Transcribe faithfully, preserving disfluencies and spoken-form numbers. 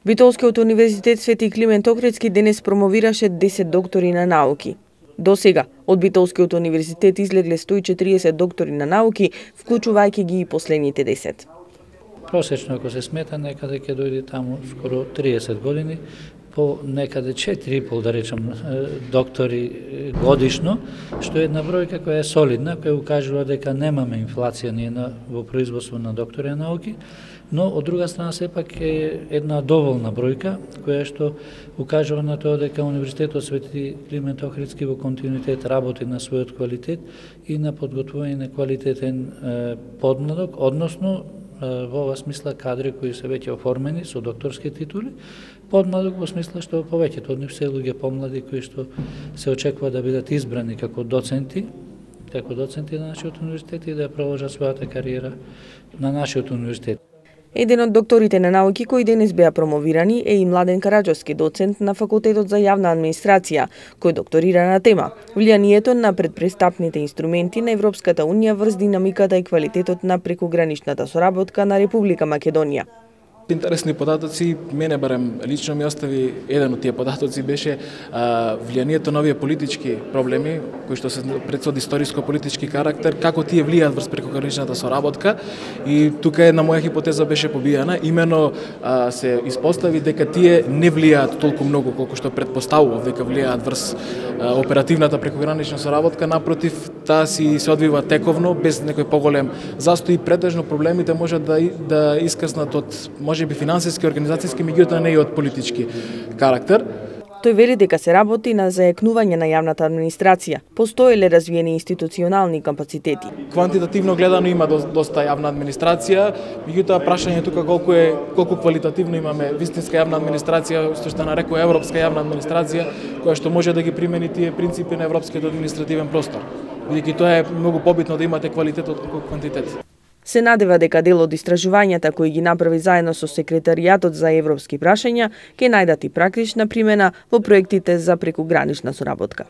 Битолскиот универзитет Свети Климент Охридски денес промовираше десет доктори на науки. До сега, од Битолскиот универзитет излегле сто и четириесет доктори на науки, вклучувајќи ги и последните десет. Просечно, ако се смета, некаде ќе дојде таму скоро триесет години, по некаде четири и пол, да речем, доктори годишно, што е една бројка која е солидна, која укажува дека немаме инфлација ние на, во производство на доктори на науки, но од друга страна сепак е една доволна бројка, која што укажува на тоа дека Универзитетот Свети Климент Охридски во континуитет работи на својот квалитет и на подготвување на квалитетен е, подмладок, односно во ова смисла кадри кои се веќе оформени со докторски титули, подмладок во смисла што повеќето од нив се луѓе помлади кои што се очекува да бидат избрани како доценти, како доценти на нашиот универзитет и да продолжат својата кариера на нашиот универзитет. Еден од докторите на науки кои денес беа промовирани е и Младен Караџовски, доцент на Факултетот за јавна администрација, кој докторира на тема влијанието на предпрестапните инструменти на Европската унија врз динамиката и квалитетот на прекуграничната соработка на Република Македонија. Интересни податоци, мене барем лично ми остави еден од тие податоци беше а, влијанието на овие политички проблеми кои што се пред од историско-политички карактер, како тие влијаат врз прекуграничната соработка и тука една моја хипотеза беше побијана, имено а, се испостави дека тие не влијаат толку многу колку што претпоставував дека влијаат врз а, оперативната прекугранична соработка, напротив, таа си се одвива тековно без некој поголем застој, претежно проблемите можат да да искаснат од може би финансиски, организацијски, меѓутоа не и од политички карактер. Тој вели дека се работи на зајакнување на јавната администрација. Постоеле развиени институционални капацитети. Квантитативно гледано има доста јавна администрација, меѓутоа прашање тука колку е колку квалитативно имаме вистинска јавна администрација, што што нарекува европска јавна администрација, која што може да ги примени тие принципи на европскиот административен простор. Бидејќи тоа е многу побитно да имате квалитет од квантитет. Се надева дека дел од истражувањата кои ги направи заедно со Секретаријатот за европски прашања ќе најдат и практична примена во проектите за прекугранична соработка.